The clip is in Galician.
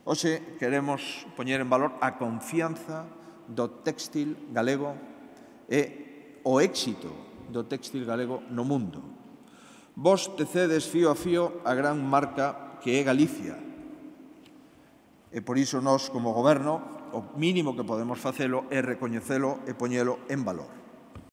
Hoxe queremos poñer en valor a confianza do téxtil galego e o éxito do téxtil galego no mundo. Vos tecedes fío a fío a gran marca que é Galicia. E por iso nós, como Goberno, o mínimo que podemos facelo é recoñecelo e poñelo en valor.